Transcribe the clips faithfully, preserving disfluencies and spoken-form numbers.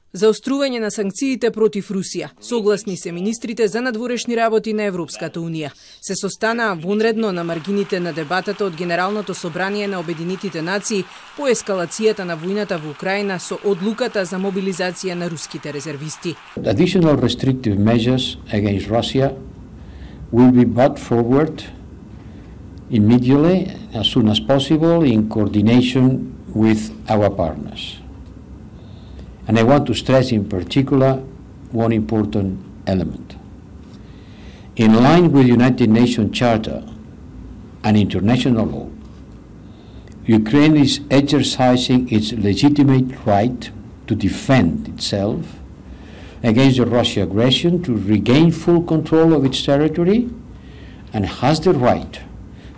Заострување на санкциите против Русија. Согласни се министрите за надворешни работи на Европската унија. Се состанаа вонредно на маргините на дебатата од Генералното собрание на Обединетите нации по ескалацијата на војната во Украина со одлуката за мобилизација на руските резервисти. Additional restrictive measures against Russia will be brought forward immediately, as soon as possible, in coordination with our partners. And I want to stress in particular one important element. In line with the United Nations Charter and international law, Ukraine is exercising its legitimate right to defend itself against the Russian aggression, to regain full control of its territory, and has the right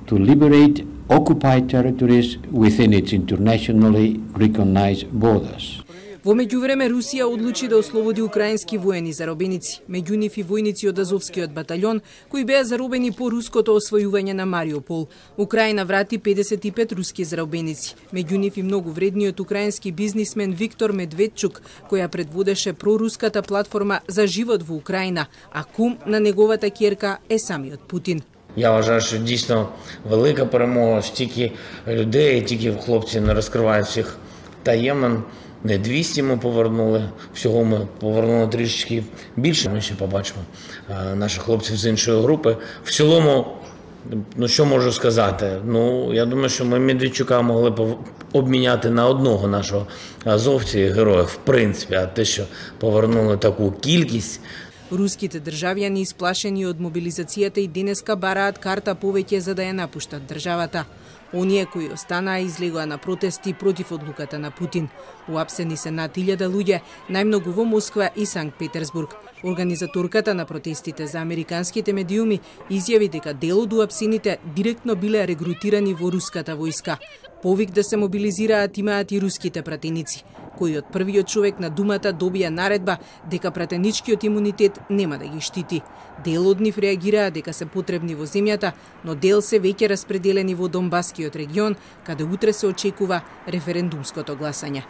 to liberate occupied territories within its internationally recognized borders. Во меѓувреме Русија одлучи да ослободи украински воени заробеници, меѓу нив и војници од Азовскиот батальон, кои беа заробени по руското освојување на Мариупол. Украина врати педесет и пет руски заробеници, меѓу нив и многу вредниот украински бизнисмен Виктор Медведчук, која предводеше проруската платформа за живот во Украина, а кум на неговата ќерка е самиот Путин. Я вважаю, що дійсно велика перемога, стільки людей, тільки хлопці не розкривають всіх таємин. Не двісті ми повернули, всього ми повернули трішечки більше. Ми ще побачимо наших хлопців з іншої групи. В цілому, ну що можу сказати? Ну, я думаю, що ми Медведчука могли б обміняти на одного нашого азовця і героя, в принципі, а те, що повернули таку кількість. Руските државјани исплашени од мобилизацијата и денеска бараат карта повеќе за да ја напуштат државата. Оние кои останаа излегоа на протести против одлуката на Путин. Уапсени се над илјада луѓе, најмногу во Москва и Санкт Петерсбург. Организаторката на протестите за американските медиуми изјави дека дел од уапсените директно биле регрутирани во руската војска. Повик да се мобилизираат имаат и руските пратеници, кои од првиот човек на думата добија наредба дека пратеничкиот имунитет нема да ги штити. Дел од нив реагираа дека се потребни во земјата, но дел се веќе распределени во Донбаскиот регион, каде утре се очекува референдумското гласање.